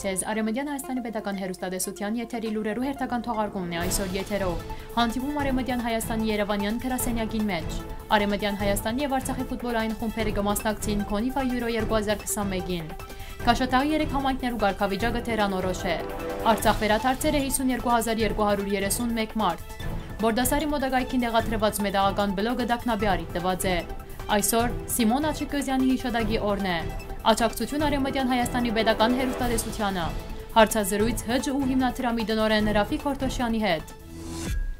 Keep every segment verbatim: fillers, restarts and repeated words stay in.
Ձեզ Արեւմտեան Հայաստանի պետական հեռուստատեսութեան եթերի լուրերու հերթական թողարկումն է այսօր եթերով։ Հանդիպում Արեւմտեան Հայաստանի Երեւանեան գրասենյակին մէջ։ Արեւմտեան Հայաստանի եւ Արցախի ֆուտբոլային խումբերը կը մասնակցին Քոնիֆա Յուրո երկու հազար քսանմէկին։ Քաշաթաղի երեք համայնքներու կարգավիճակը դեռ անորոշ է։ Արցախ վերադարձեր է հիսուն երկու հազար երկու հարյուր երեսուն մէկ մարդ։ Բորդասարի մոտակայքին տեղադրուած մետաղական բլոկը տագնապի առիթ տուած է։ Այսօր Սիմոն Աչիկոզեանի յիշատակի օրն է։ Աջակցութիւն Արեւմտեան Հայաստանի պետական հեռուստատեսութեանը։ Հարցազրոյց Հ Ջ Ու հիմնադրամի տնօրէն Ռաֆիկ Հորթոշեանի հետ։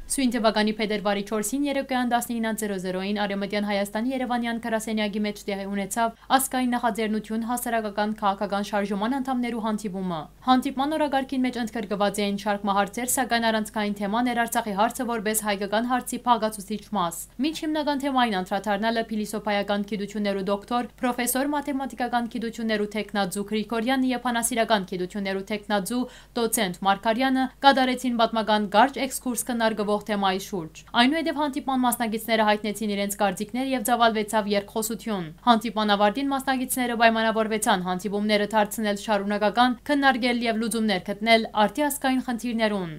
Սոյն թվականի փետրուարի չորսին երեկոյեան տասնինը զերոյին Արեւմտեան Հայաստանի Երեւանեան գրասենյակի մէջ տեղի ունեցաւ ազգային նախաձեռնութիւն հասարակական քաղաքական շարժման անդամներու հանդիպումը։ Հանդիպման օրակարգին մէջ ընդգրկուած էին շարք մը հարցեր, սակայն առանցքային թեման էր Արցախի հարցը որպէս հայկական հարցի փաղկացուցիչ մաս։ Մինչ հիմնական թեմային անդրադառնալը փիլիսոփայական գիտութիւններու դոկտոր, պրոֆեսոր, մաթեմատիկական գիտութիւններու թեկնածու Գրիգորեանը եւ բանասիրական գիտութիւններու թեկնածու դոցենտ Մարգարեանը կատարեցին պատմական կարճ էքսկուրս քննարկուող թեմայի շուրջ։ Այնուհետեւ հանդիպման մասնակիցները յայտնեցին իրենց կարծիքներ եւ ծաւալուեցաւ երկխօսութիւն։ Հանդիպման ավարտին մասնակիցները պայմանավորուեցան հանդիպումները դարձնել շարունակական, քննարկել եւ լուծումներ գտնել արդի ազգային խնդիրներուն։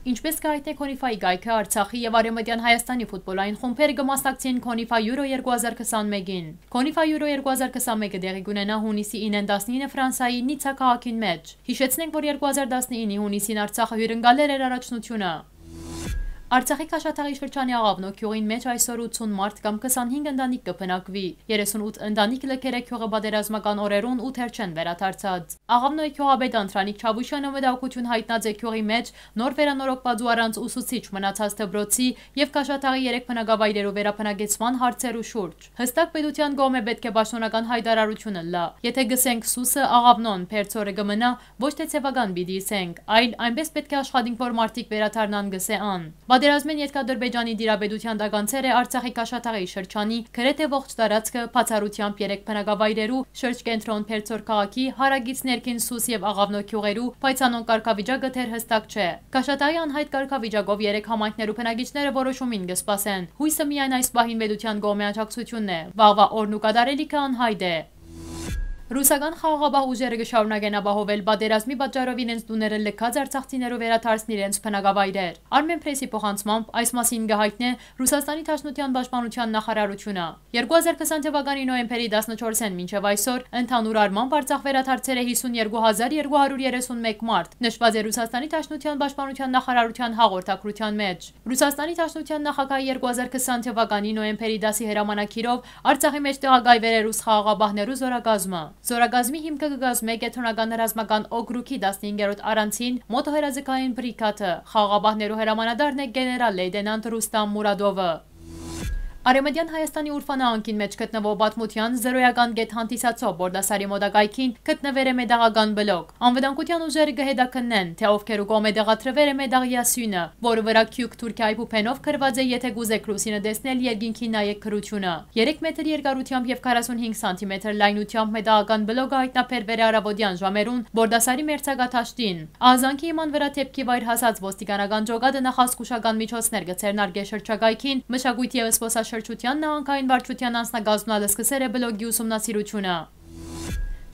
Ինչպես կը հայտնէ Քոնիֆայի կայքը, Արցախի եւ Արեւմտեան Հայաստանի ֆուտբոլային խումբերը կը մասնակցին Քոնիֆա Յուրո երկու հազար քսանմէկին։ Քոնիֆա Յուրո երկու հազար քսանմէկը տեղի կունենայ յունիսի ինը տասնինը Ֆրանսայի Նիցա քաղաքին մէջ։ Յիշեցնենք, որ երկու հազար տասնինի յունիսին Արցախը հիւրընկալեր էր առաջնութիւնը։ Արցախի Քաշաթաղի շրջանի Աղավնոյ գիւղին մէջ այսօր ութսուն մարդ կամ քսանհինգ ընտանիք կը բնակուի։ Երեսունութ ընտանիք լքեր է գիւղը պատերազմական օրերուն ու դեռ չեն վերադարձած։ Աղավնոյ գիւղապետ Անդրանիկ Չաւուշյանը մտահոգութիւն յայտնած է գիւղի մէջ նոր վերանորոգուած ու առանց ուսուցիչ մնացած դպրոցի եւ Քաշաթաղի երեք բնակավայրերու վերաբնակեցման հարցերու շուրջ։ Յստակ պետութեան կողմէ պէտք է պաշտօնական յայտարարութիւն ըլլայ։ Եթէ կ'ըսենք Սուսը, Աղավնոն, Բերձորը կը մնայ, ոչ թէ ձեւական պիտի ըսենք, այլ այնպէս պէտք է աշխատենք, որ մարդիկ վերադառնան, կ'ըսէ ան։ Պատերազմէն ետք Ադրբեջանի տիրապետութեան տակ անցեր է Արցախի Քաշաթաղի շրջանի գրեթէ ողջ տարածքը, բացառութեամբ երեք բնակավայրերու, շրջկենտրոն Բերձոր քաղաքի, հարակից ներքին Սուս եւ Աղավնոյ գիւղերու, բայց անոնք կարգավիճակը դեռ յստակ չէ։ Քաշաթաղի անյայտ կարգավիճակով երեք համայնքներու բնակիչները որոշումին կը սպասեն։ Յոյսը միայն այս պահին պետութեան կողմէ աջակցութիւնն է։ Վաղուա օրն ու կատարելիքը անյայտ է։ Ռուսական խաղաղապահ ուժերը կը շարունակեն ապահովել պատերազմի պատճառով իրենց տուները լքած արցախցիներու վերադարձն իրենց բնակավայրեր։ Armenpress-ի փոխանցմամբ այս մասին կը յայտնէ Ռուսաստանի Դաշնութեան պաշտպանութեան նախարարութիւնը։ Երկու հազար քսան թվականի նոյեմբերի տասնչորսէն մինչեւ այսօր ընդհանուր առմամբ Արցախ վերադարձեր է հիսուն երկու հազար երկու հարյուր երեսուն մէկ մարդ, նշուած է Ռուսաստանի Դաշնութեան պաշտպանութեան նախարարութեան հաղորդագրութեան մէջ։ Ռուսաստանի Դաշնութեան նախագահը երկու հազար քսան թվականի նոյեմբերի տասի հրամանագիրով Արցախի մէջ տեղակայ էր ռուս խաղաղապահներու զորակազմը։ Զորակազմի հիմքը կը կազմէ կեդրոնական ռազմական օկրուգի տասնհինգերորդ առանցին մոտոհրաձգային բրիգադը։ Խաղաղապահներու հրամանատարն է գեներալ լեյտենանտ Ռուստամ Մուրադովը։ Արեւմտեան Հայաստանի Ուրֆա նահանգին մէջ գտնուող պատմութեան զրոյական գետ հանդիսացող Բորդասարի մոտակայքին գտնուեր է մետաղական բլոկ։ Անվտանգութեան ուժերը կը հետաքննեն, թէ ովքերու կողմէ տեղադրուեր է մետաղեայ սիւնը, որու վրայ Քիւք Թուրքիայի փուփենով գրուած է «Եթէ կուզէք լուսինը տեսնել, երկինքին նայէք» գրութիւնը։ Երեք մեթր երկարութեամբ եւ քառասունհինգ սանտիմեթր լայնութեամբ մետաղական բլոկը յայտնաբերուեր է առաւօտեան ժամերուն Բորդասարի մերձակա դաշտին։ Ահազանգի հիման վրայ դէպքի վայր հասած ոստիկանական ջոկատը նախազգուշական միջոցներ կը ձեռնարկէ շրջակայքին, մշակոյթի եւ զբօսաշրջութեան նահանգային վարչութեան անձնակազմն ալ սկսեր է բլոկի ուսումնասիրութիւնը։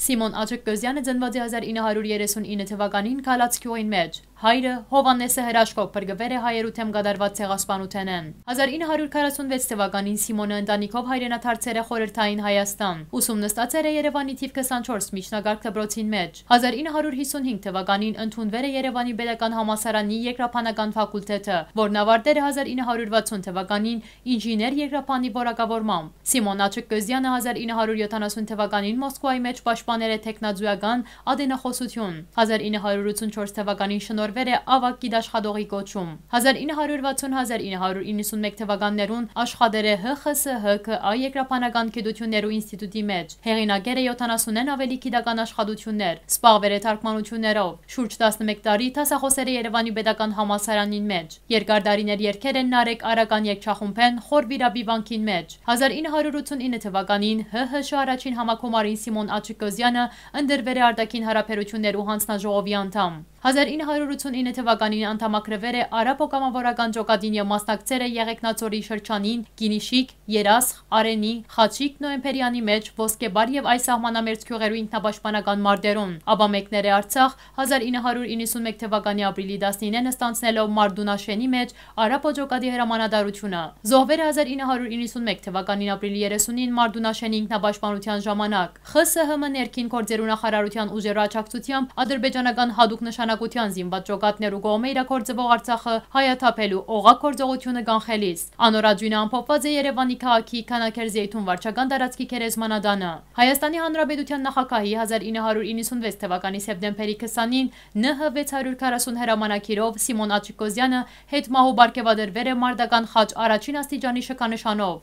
Սիմոն Աչկկոզեանը ծնուած է հազար ինը հարիւր երեսուն ինը թուականին Գալաց գիւղին մէջ։ Հայրը՝ Յովհաննէսը, հրաշքով փրկուեր է հայերու դէմ կատարուած ցեղասպանութենէն։ Հազար ինը հարիւր քառասուն վեց թուականին Սիմոնը ընտանիքով հայրենադարձեր է Խորհրդային Հայաստան։ Ուսում նստած էր Երեւանի թիվ քսանչորս միջնակարգ դպրոցին մէջ։ Հազար ինը հարիւր հիսունհինգ թուականին ընդունուեր է Երեւանի Պետական Համալսարանի երկրաբանական ֆակուլտետը, որն ավարտեր է հազար ինը հարիւր վաթսուն թուականին ինժեներ երկրաբանի որակավորմամբ։ Սիմոն Աչկկոզեանը հազար ինը հարիւր յոթանասուն թուականին Մոսկուայի մէջ պաշտպաներ է թեկնածուական ատենախօսութիւն։ Հազար ինը հարիւր ութսուն չորս թուականին շնորհուեր է աւագ գիտաշխատողի կոչում։ Հազար ինը հարիւր վաթսուն, հազար ինը հարիւր իննսուն մէկ թուականներուն աշխատեր է Հ Խ Ս Հ Կ Ա երկրաբանական գիտութիւններու ինստիտուտի մէջ։ Հեղինակեր է յոթանասունէն աւելի գիտական աշխատութիւններ, զբաղուեր է թարգմանութիւններով։ Շուրջ տասնմէկ տարի դասախօս էր Երեւանի Պետական Համալսարանին մէջ։ Երկար տարիներ երգեր են Նարեկ Արական երգչախումբէն Խոր Վիրապի վանքին մէջ։ Հազար ինը հարիւր ութսուն ինը թուականին Հ Հ Շ առաջին համագումարին Սիմոն Աչկոզեանը ընտրուեր է արտաքին հարաբերութիւններու յանձնաժողովի անդամ։ Հազար ինը հարիւր ութսունինը թուականին անդամակրուեր է Արաբոյ կամաւորական ճակատին եւ մասնակցեր է Եղեգնաձորի շրջանին Կինիշիկ, Երասխ, Արենի, Խաչիկ, Նոյեմբերեանի մէջ, Ոսկեբար եւ այլ սահմանամերձ գիւղերու ինքնապաշտպանական մարտերուն, ապա մեկներ է Արցախ, հազար ինը հարիւր իննսունմեկ թուականի ապրիլի տասնինեն ստանձնելով Մարտունաշէնի մէջ Արաբոյ ճակատի հրամանատարութիւնը։ Զոհուեր է հազար ինը հարիւր իննսունմեկ թուականին ապրիլի երեսունին Մարտունաշէնի ինքնապաշտպանութեան ժամանակ։ Խ Ս Հ Մ ներքին գործերու նախարարութեան ուժերու աջակցութեամբ ադրբեջանական յատուկ նշանակութեան զինուած ճակատներու կողմէ իրագործուող Արցախը հայաթափելու օղակ գործողութիւնը կանխելիս։ Անոր աճոյնը ամփոփուած է Երեւանի քաղաքի Քանաքերզեյթուն վարչական տարածքի գերեզմանատանը։ Հայաստանի Հանրապետութեան նախագահի հազար ինը հարիւր իննսունվեց թուականի սեպտեմբերի քսանին Ն Հ վեց հարիւր քառասուն հրամանագիրով Սիմոն Աչիկոզեանը հետ մահու պարգեւատրուեր է մարտական խաչ առաջին աստիճանի շքանշանով։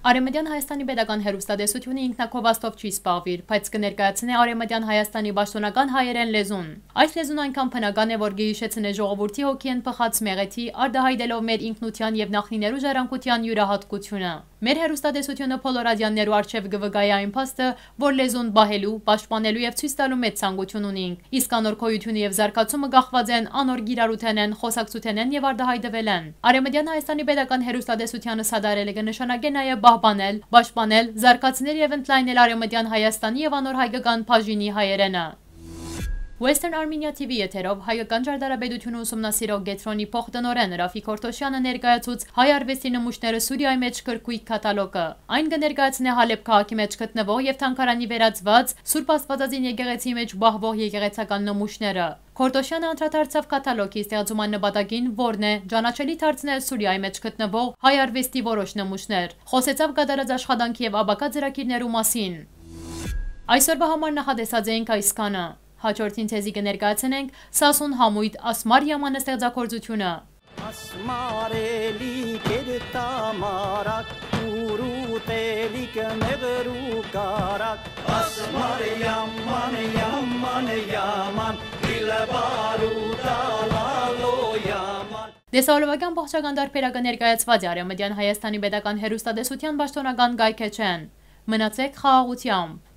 Արեւմտեան Հայաստանի պետական հեռուստատեսութիւնը ինքնակովաստով չի զբաղուիր, բայց կը ներկայացնէ Արեւմտեան Հայաստանի պաշտօնական հայերէն լեզուն։ Այս լեզուն այնքան բնական է, որ կը յիշեցնէ ժողովուրդի հոգիէն բխած մեղեդի, արտայայտելով մեր ինքնութեան եւ նախնիներու ժառանգութեան իւրայատկությունը։ Մեր հեռուստատեսութիւնը բոլոր ատեաններու առջեւ կը վկայէ այն փաստը, որ լեզուն պահելու, պաշտպանելու եւ ցոյց տալու մեծ ցանկութիւն ունինք, իսկ անոր գոյութիւնը եւ զարգացումը կախուած են անոր կիրառութենէն, խոսակցութենէն եւ արտայայտուելէն։ Արեւմտեան Հայաստանի պետական հեռուստատեսութեանը սա դարելը կը նշանակէ նաեւ պահպանել, պաշտպանել, զարգացնել եւ ընդլայնել Արեւմտեան Հայաստանի եւ անոր հայկական բաժինի հայերէնը։ Western Armenia T V եթերով Հայկական ճարտարապետությունը ուսումնասիրող կեդրոնի փոխտնօրէն Ռաֆիկ Հորթոշյանը ներկայացուց հայ արուեստի նմուշները Սուրիայի մէջ գրքոյթ կատալոգը։ Այն կը ներկայացնէ Հալեբ քաղաքի մէջ գտնուող եւ թանգարանի վերածուած Սուրբ Աստվածածին եկեղեցի մէջ պահուող եկեղեցական նմուշները։ Հորթոշյանը անդրադարձաւ կատալոգի ստեղծման նպատակին, որն է ճանաչելի դարձնել Սուրիայի մէջ գտնուող հայ արուեստի որոշ նմուշներ։ Խոսեցաւ կատարած աշխատանքի եւ ապագայ ծրագիրներու մասին։ Այսօրվա համար նախատեսած էինք այսքանը։ Հաջորդին ձեզի կը ներկայացնենք Սասուն համոյթ Ասմար Յամանը ստեղծագործութիւնը։ Ասմարելի կերտամարակ, ուրուտելի կմեղրու կարակ, Ասմար Յաման, Յաման, Յաման, իլ բարուտալալո Յաման։ Տեսահոլովակեան բողջական դարբերակը ներկայացուած է Արեւմտեան Հայաստանի պետական հեռուստատեսութեան պաշտօնական կայքէջէն։ Մնացեք խաղաղութեամբ։